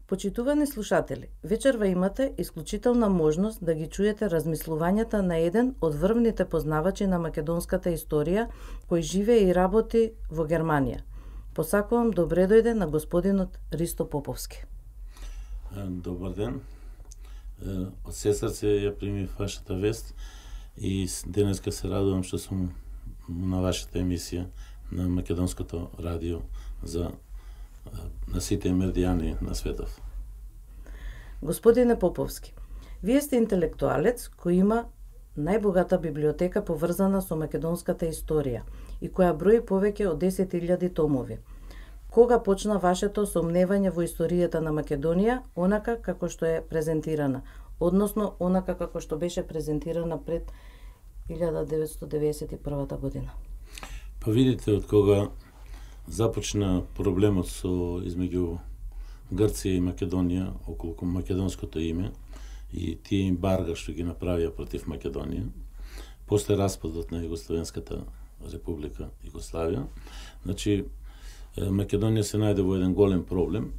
Почитувани слушатели, вечерва имате исклучителна можност да ги чуете размислувањата на еден од врвните познавачи на македонската историја, кој живее и работи во Германија. Посакувам добре дојде на господинот Ристо Поповски. Добар ден. Од се срце ја примив вашата вест и денеска се радувам што сум на вашата емисија на Македонското радио на сите меридијани на светов. Господине Поповски, вие сте интелектуалец кој има најбогата библиотека поврзана со македонската историја и која брои повеќе од 10.000 томови. Кога почна вашето сомневање во историјата на Македонија, онака како што е презентирана, односно онака како што беше презентирана пред 1991 година? Па видите, од кога започна проблемот измеѓу Грција и Македонија околу македонското име и тие ембарга што ги направија против Македонија, после распадот на Југословенската република Југославија, значи Македонија се најде во еден голем проблем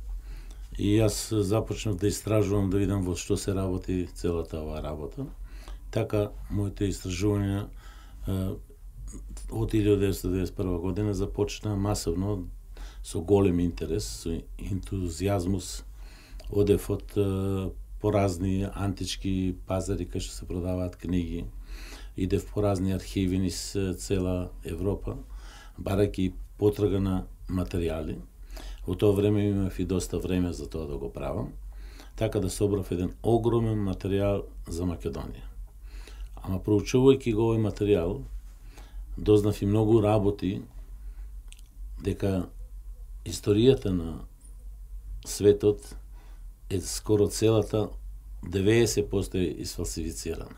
и јас започнав да истражувам, да видам во што се работи целата оваа работа. Така, моите истражувања од 1991 година започна масовно со голем интерес, со ентузијазмус. Одев од по разни антички пазари кај што се продаваат книги, идев по разни архиви низ цела Европа, барајќи потрага на материјали. Во тоа време имав и доста време за тоа да го правам, така да собрав еден огромен материјал за Македонија. Ама проучувајќи го овој материјал, дознав и многу работи дека историјата на светот е скоро целата 90% е изфалсифицирана.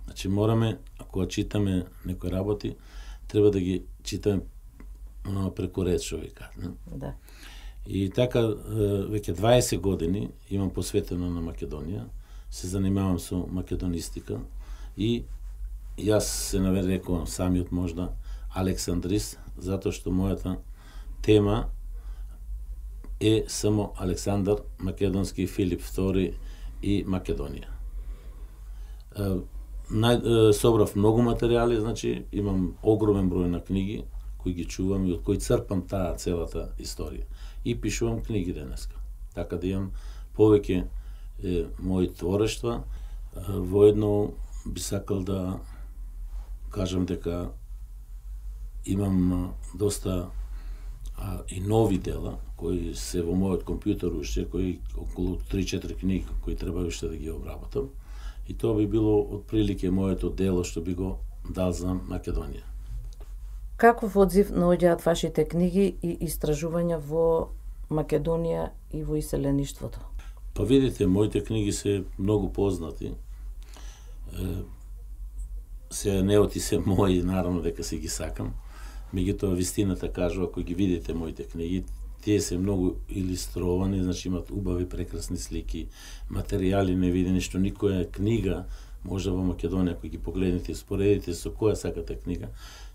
Значи мораме, ако читаме некои работи, треба да ги читаме преку ред, што ви кажа. Да. И така, веќе 20 години имам посветено на Македонија, се занимавам со македонистика и јас се нарекувам самиот можда Александрист, затоа што мојата тема е само Александар Македонски, Филип II и Македонија. Собрав многу материјали, значи имам огромен број на книги кои ги чувам и од кои црпам таа целата историја. И пишувам книги денеска. Така да имам повеќе мои творештва. Воедно би сакал да кажам дека имам доста и нови дела кои се во мојот компјутер уште, кои околу 3-4 книги кои треба уште да ги обработам. И тоа би било отприлике моето дело што би го дал за Македонија. Каков одзив наоѓаат вашите книги и истражувања во Македонија и во иселеништвото? Па видите, моите книги се многу познати. Се неоти се мои, наравно дека се ги сакам. Меѓутоа вистината кажува, ако ги видите моите книги, тие се многу илустровани, значи имат убави, прекрасни слики, материјали невидени, што никоја книга, може во Македонија, ако ги погледнете и споредите со која сакате книга,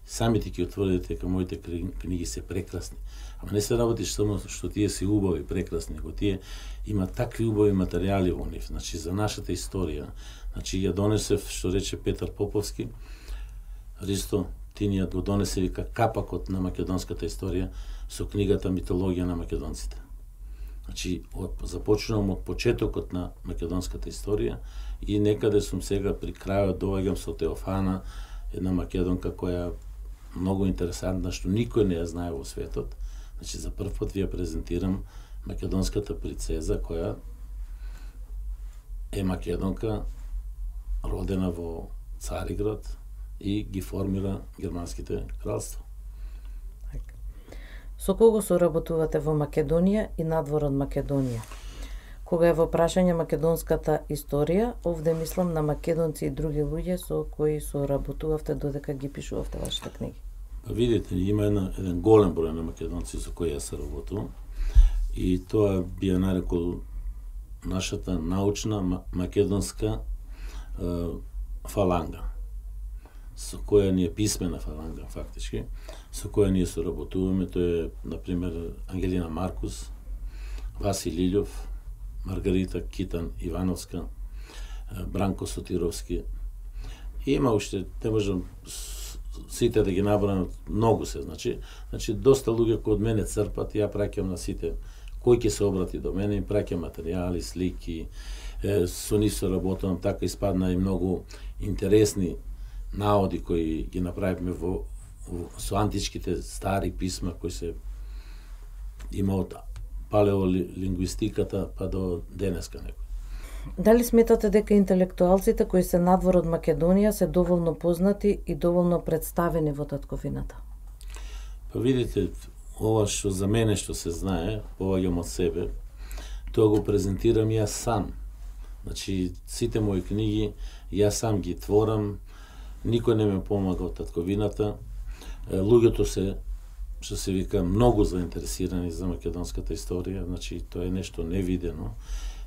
самите ќе утврдите дека моите книги се прекрасни. Ама не се работи само што тие се убави, прекрасни, ако тие има такви убави материјали во нив, значи за нашата историја. Значи ја донесев, што рече Петар Поповски, Ристо, ти ни ја го донесе, вика, капакот на македонската историја со книгата Митологија на македонците. Значи, започнувам од почетокот на македонската историја и некаде сум сега при крајот, доаѓам со Теофана, една македонка која многу интересантна, што никој не ја знае во светот. Значи, за прв пат ви ја презентирам македонската принцеза, која е македонка, родена во Цариград и ги формира германските кралства. Со кого соработувате во Македонија и надвор од Македонија? Кога е во прашање македонската историја, овде мислам на македонци и други луѓе со кои соработувавте додека ги пишувавте вашите книги. Видите, има еден голем број на македонци со кои јас соработувам и тоа би ја нарекол нашата научна македонска фаланга, со која ние писмена фаланга фактички, со која ние соработуваме. Тоа е, например, Ангелина Маркус, Васи Лилјов, Маргарита Китан Ивановска, Бранко Сотировски. Има уште, не можам сите да ги набрам, многу се, значи доста луѓе кои од мене црпат, ја праќам на сите кој ќе се обрати до мене, им праќам материјали, слики, со нив се работам, така испадна и многу интересни наоди кои ги направивме со античките стари писма кои се има од палеолингвистиката па до денеска некој. Дали сметате дека интелектуалците кои се надвор од Македонија се доволно познати и доволно представени во татковината? Па видите, ова што за мене што се знае, поваѓам од себе, тоа го презентирам јас сам. Значи, сите мои книги, јас сам ги творам, никој не ме помага од татковината. Луѓето се, што се вика, многу заинтересирани за македонската историја, значи, тоа е нешто невидено.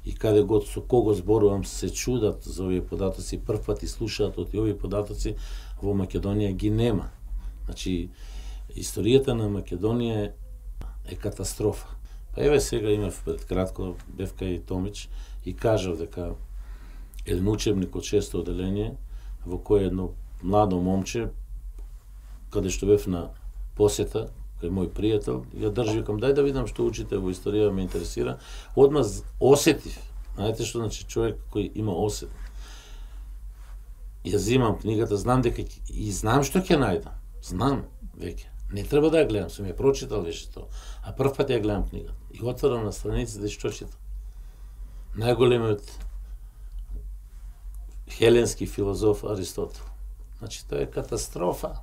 И каде год со кого зборувам се чудат за овие податоци, прв пат и слушаат од овие податоци, во Македонија ги нема. Значи, историјата на Македонија е катастрофа. Па еве сега имав пред кратко, бев кај Томич и кажав дека еден учебник од 6-то оделение, во кој едно младо момче, каде што бев на посета, кај мој пријател, ја држи, викам, дај да видам што учите во историја, ме интересира. Одма осетив, знаете што значи човек кој има осет. Ја зимам книгата, знам дека и знам што ќе најдам. Знам веќе. Не треба да ја гледам, сум ја прочитал веќе тоа. А прв пат ја гледам книгата. И отворам на страниците и што читам. Најголемиот хеленски филозоф Аристотел. Значи тоа е катастрофа.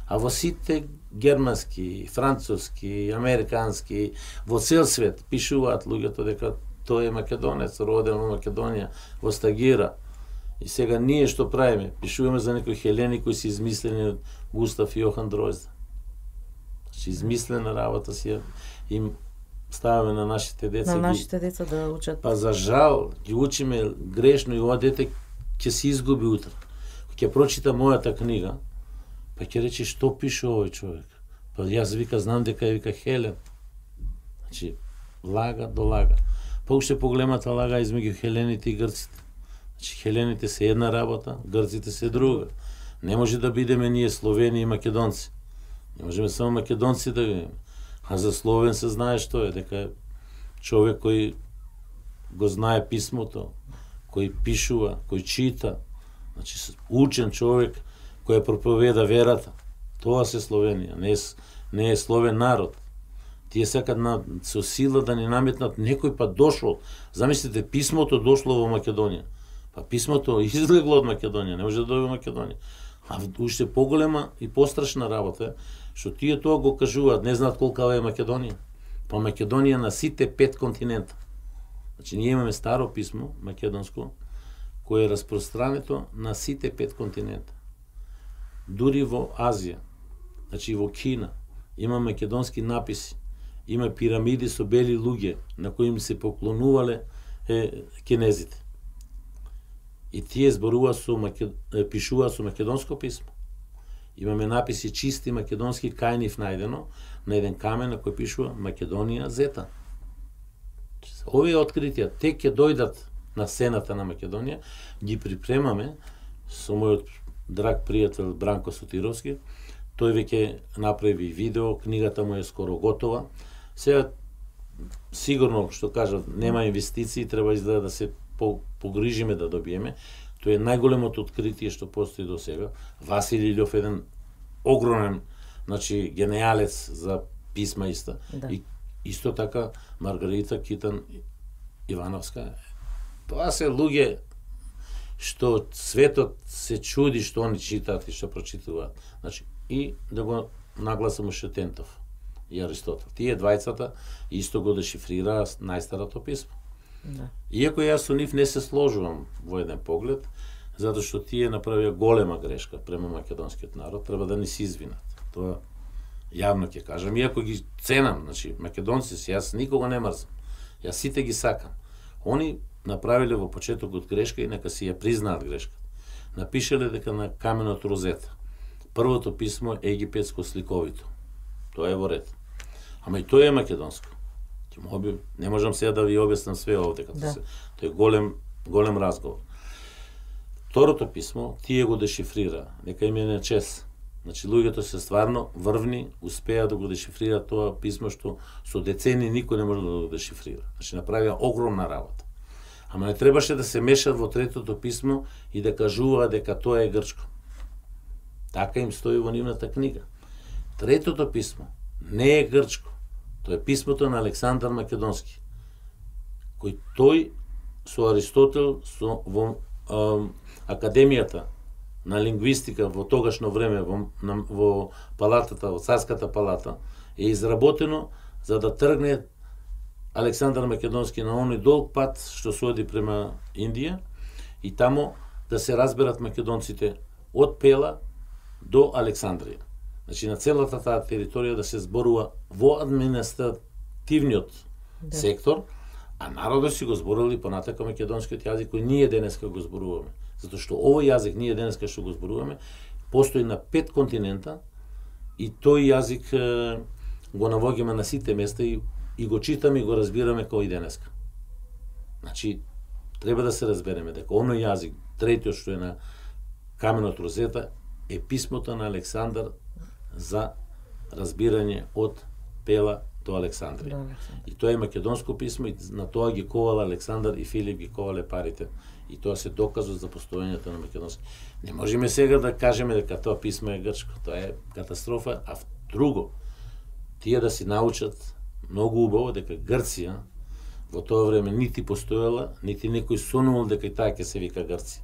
А во сите германски, француски, американски, во цел свет пишуваат луѓето дека тој е македонец, роден во Македонија, во Стагира. И сега ние што правиме? Пишуваме за некои хелени кои се измислени од Густав и Јохан Дройзда. Значи измислена работа си им ставаме на нашите деца. На нашите деца да учат. Па за жал ги учиме грешно и ова дете ќе се изгуби утре. Ќе прочита мојата книга, па ќе рече што пише овој човек. Па јас вика знам дека вика Хелен. Значи лага до лага. Па уште поголемата лага измеѓу хелените и грците. Значи хелените се една работа, грците се друга. Не може да бидеме ние словени и македонци. Не можеме само македонци да видиме. А за словен се знае што е, дека е човек кој го знае писмото, кој пишува, кој чита, значи учен човек кој проповеда верата. Тоа се Словенија, не е словен народ. Тие сакат со сила да ни наметнат, некој па дошол. Замислите, писмото дошло во Македонија. Па писмото излегло од Македонија, не може да дојде во Македонија. А уште поголема и пострашна работа што тие тоа го кажуваат, не знаат колкава е Македонија. Па Македонија на сите 5 континента. Значи ние имаме старо писмо, македонско, кое е распространето на сите 5 континента. Дури во Азија, значи во Кина, има македонски написи, има пирамиди со бели луѓе на кои им се поклонувале кинезите. И тие зборуваат пишуваат со македонско писмо. Имаме написи чисти македонски кајнив најдено на еден камен на кој пишува Македонија Зета. Овие откритија тек ќе дојдат на сцената на Македонија, ги припремаме со мојот драг пријател Бранко Сотировски. Тој веќе направи видео, книгата му е скоро готова. Сега сигурно што кажав, нема инвестиции, треба изгледа да се погрижиме да добиеме. Тоа е најголемото откритие што постои до сега. Васили Илјов еден огромен, значи гениалец за писма иста. Да. И исто така Маргарита Китан Ивановска. Тоа се луѓе што светот се чуди што они читаат и што прочитуваат. Значи и да го нагласам уште Тентов и Аристотел. Тие двајцата исто го дешифрираа најстарото писмо. Да. Иако јас со нив не се сложувам во еден поглед, затоа што тие направија голема грешка према македонскиот народ, треба да ни се извинат. Тоа јавно ќе кажам, иако ги ценам, значи македонци си, јас никога не мрзам. Јас сите ги сакам. Они направиле во почетокот грешка и нека си ја признаат грешката. Напишале дека на каменот Розета првото писмо е египетско сликовито. Тоа е во ред. Ама и тоа е македонско. Не можам сега да ви објаснам све овде, тој е голем разговор. Второто писмо, тие го дешифрира, нека им е на чест. Значи, луѓето се стварно врвни, успеа да го дешифрира тоа писмо што со децени никој не може да го дешифрира. Значи, направија огромна работа. Ама не требаше да се мешат во третото писмо и да кажува дека тоа е грчко. Така им стои во нивната книга. Третото писмо не е грчко. Тоа е писмото на Александар Македонски, кој тој со Аристотел во Академијата на лингвистика во тогашно време во палатата, во царската палата, е изработено за да тргне Александар Македонски на оној долг пат што се оди према Индија и таму да се разберат македонците од Пела до Александрија. Значи на целата таа територија да се зборува во административниот сектор, а народот си го зборували понатака македонскиот јазик кој ние денеска го зборуваме. Затоа што овој јазик ние денеска што го зборуваме постои на 5 континента и тој јазик го навоѓаме на сите места и го читаме и го разбираме како и денеска. Значи треба да се разбереме дека оној јазик, третиот што е на каменот Розета, е писмото на Александар за разбирање од Пела до Александрија. И тоа е македонско писмо и на тоа ги ковала Александар и Филип ги ковале парите. И тоа се доказува за постоењето на македонски. Не можеме сега да кажеме дека тоа писмо е грчко. Тоа е катастрофа, а друго, тие да си научат многу убаво дека Грција во тоа време нити постоела, нити некој сонувал дека и таа ќе се вика Грција.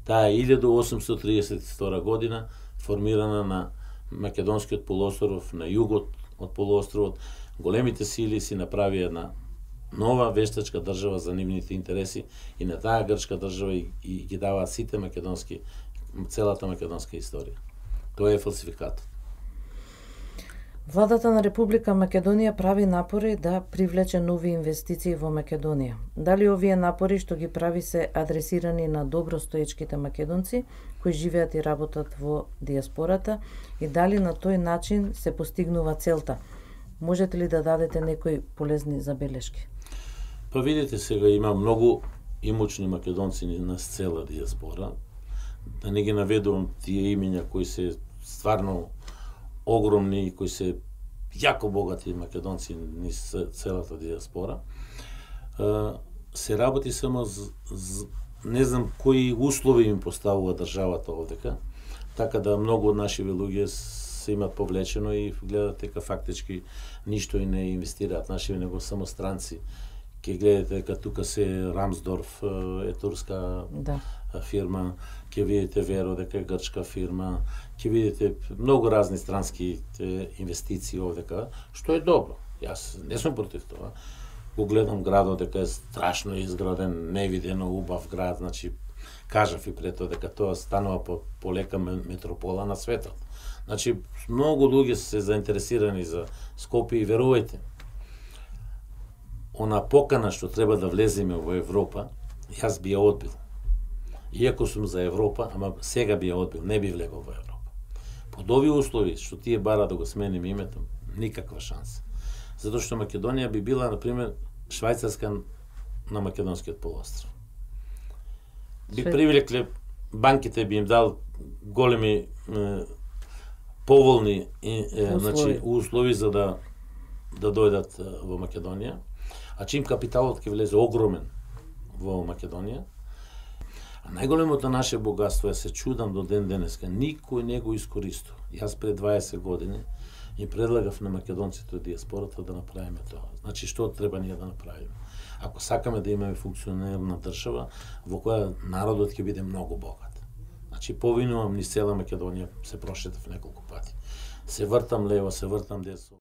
Таа е 1832 година формирана на Македонскиот полуостров, на југот од полуостровот. Големите сили си направија една нова вештачка држава за нивните интереси и на таа грчка држава и ги даваат сите македонски, целата македонска историја. Тоа е фалсификатот. Владата на Република Македонија прави напори да привлече нови инвестиции во Македонија. Дали овие напори што ги прави се адресирани на добростоечките македонци кои живеат и работат во диаспората и дали на тој начин се постигнува целта? Можете ли да дадете некои полезни забелешки? Па видите, сега има многу имучни македонци на цела диаспора. Да не ги наведувам тие имиња кои се стварно огромни и кои се јако богати македонци низ целата диаспора. Се работи само не знам кои услови им поставува државата овдека, така да многу од нашиве луѓе се имат повлечено и гледат дека фактички ништо и не инвестираат нашиве, него само странци. Ке гледате дека тука се Рамсдорф е турска фирма, ќе видите Веро дека е грчка фирма, ќе видите многу разни странски инвестиции овдека, што е добро. Јас не сум против тоа. Го гледам градот дека е страшно изграден, невидено убав град, значи кажав и пред тоа дека тоа станува полека метропола на светот. Значи многу луѓе се заинтересирани за Скопје и верувајте, она покана што треба да влеземе во Европа, јас би ја одбил. Иако сум за Европа, ама сега би ја одбил, не би влегол во Европа. Под овие услови што тие бара да го смениме името, никаква шанса. Затоа што Македонија би била, например, Швајцарска на Македонскиот полуостров. Би привлекле, банките би им дал големи поволни услови за да дојдат во Македонија. А чим капиталот ќе влезе огромен во Македонија, а најголемото наше богатство е, се чудам до ден денеска, никој не го искористува. Јас пред 20 години им предлагав на македонците од диаспората да направиме тоа. Значи, што треба ние да направиме? Ако сакаме да имаме функционерна држава во која народот ќе биде многу богат. Значи, повинувам низ цела Македонија, се прошетав неколку пати. Се вртам лево, се вртам десно.